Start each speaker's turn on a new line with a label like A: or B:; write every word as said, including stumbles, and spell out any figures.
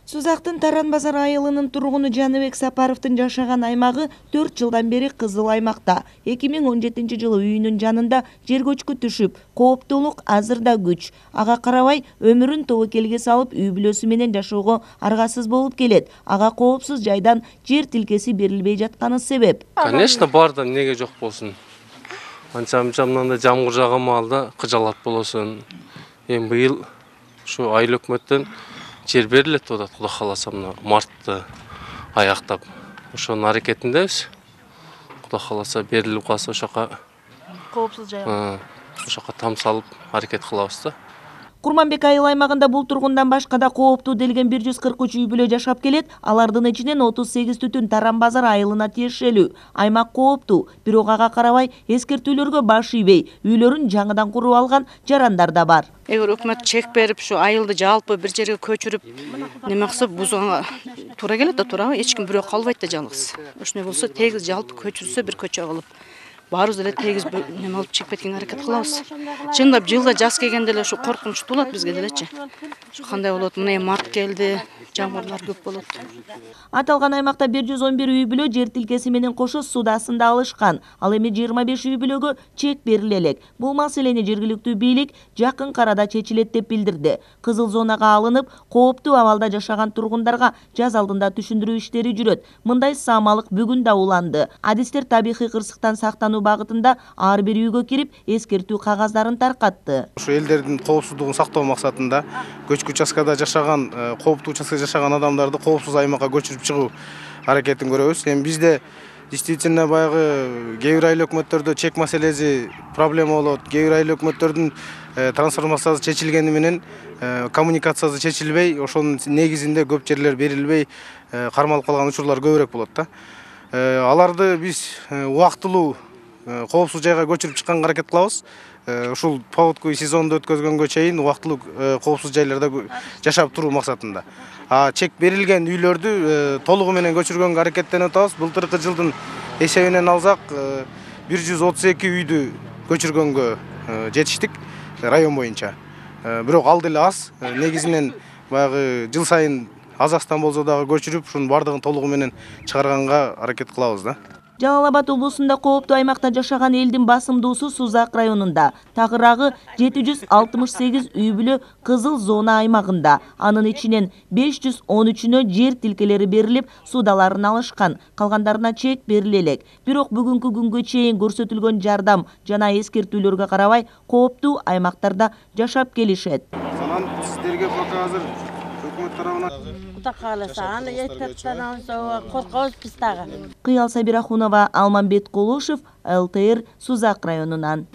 A: Сузактын Таран базар айылынын тургуну Жаныбек Сапаровдун жашаган аймагы төрт жылдан бери кызыл аймакта. эки миң он жетинчи жылы үйүнүн жанында жер көчкү түшүп, кооптуулук азыр да күч. Ага карабай өмүрүн тобокелге салып, үй бүлөсү менен жашоого аргасыз болуп келет. Ага коопсуз жайдан жер тилкеси берилбей жатканы себеп.
B: Конечно, барда неге жок болсун. Анча-мынча мындай жамгыр жааган маалда кыжалат болосун. Эми быйыл ушу айыл өкмөттөн жер берилет деп атат, Кудай кааласа мына мартты аяктап. Ошонун аракетиндебиз. Кудай кааласа берилип калса ошока
A: Коопсуз жайга.
B: Ошока там салып аракет кылабыз да.
A: Курманбек айыл аймагында бул тургундан башка да кооптуу делген бир жүз кырк үч үй бүлө жашап келет. Алардын ичинен отуз сегиз түтүн Таран базар айылына тиешелүү. Аймак кооптуу, бирок ага карабай эскертүүлөргө баш ийбей, үйлөрүн жаңыдан куруп алган жарандар да бар.
C: Эгер өкмөт чек берип, ушу айылды жалпы бир жерге көчүрүп, неме кылса бузганга туура келет да, туурабы? Эч ким бирөө калбайт да жалгыз. Ошондой болсо тегиз жалпы көчүрсө бир көчө кылып, баарыбыз эле тегиз неме алып чыгып кеткенге аракет кылабыз. Чындап жылда жаз келгенде эле ушу коркунучтуу болот бизге делечи. Кандай болот? Мына март келди, жамгырлар көп болот.
A: Аталган аймакта бир жүз он бир үй бүлө жер тилкеси менен кошо суд астында алышкан. Ал эми жыйырма беш үй бүлөгө чек бериле элек. Бул маселени жергиликтүү бийлик жакын карада чечилет деп билдирди. Кызыл зонага алынып, кооптуу абалда жашаган тургундарга жаз алдында түшүндүрүү иштери жүрөт. Мындай саамалык бүгүн да уланды. Адистер табигый кырсыктан сактануу багытында ар бир үйгө кирип, эскертүү кагаздарын таркатты.
D: Ушу элдердин коопсуздугун сактоо максатында көчкү участкада жашаган, кооптуу участкада жашаган адамдарды коопсуз аймакка көчүрүп чыгуу аракетин көрөбүз. Эми бизде действительно баягы кээ бир айыл өкмөттөрдө чек маселеси проблема болот. Кээ бир айыл өкмөттөрдүн трансформациясы чечилгени менен коммуникациясы чечилбей, ошонун негизинде көп жерлер берилбей кармалып калган учурлар көбүрөөк болот да. Аларды биз убактылуу коопсуз жайга көчүрүп чыкканга аракет кылабыз. Ушул поводку сезонду өткөзгөнгө чейин убактылуу коопсуз жайларда жашап туруу максатында. А чек берилген үйлөрдү толугу менен көчүргөнгө аракеттенип атабыз. Былтыркы жылдын эсебинен алсак бир жүз отуз эки үйдү көчүргөнгө жетиштик район боюнча. Бирок ал деле аз. Негизинен баягы жыл сайын аз-аздан болсо дагы көчүрүп, ушунун бардыгын толугу менен чыгарганга аракет кылабыз да.
A: Жалал Абад облусунда кооптуу аймакта жашаган элдин басымдуусу Сузак районунда. Тагыраагы жети жүз алтымыш сегиз үй бүлө кызыл зона аймагында. Анын ичинен беш жүз он үчүнө жер тилкелери берилип, судаларын алышкан. Калгандарына чек бериле элек. Бирок бүгүнкү күнгө чейин көрсөтүлгөн жардам жана эскертүүлөргө карабай, кооптуу аймактарда жашап келишет.
D: Анан сиздерге пока азыр өкмөт тарабынан
E: Кудай кааласа, аны эскертүүдөн соң коркобуз биз дагы.
A: Кыял Сабирахунова, Алмамбет Колушев, эл тэ эр Сузак районунан.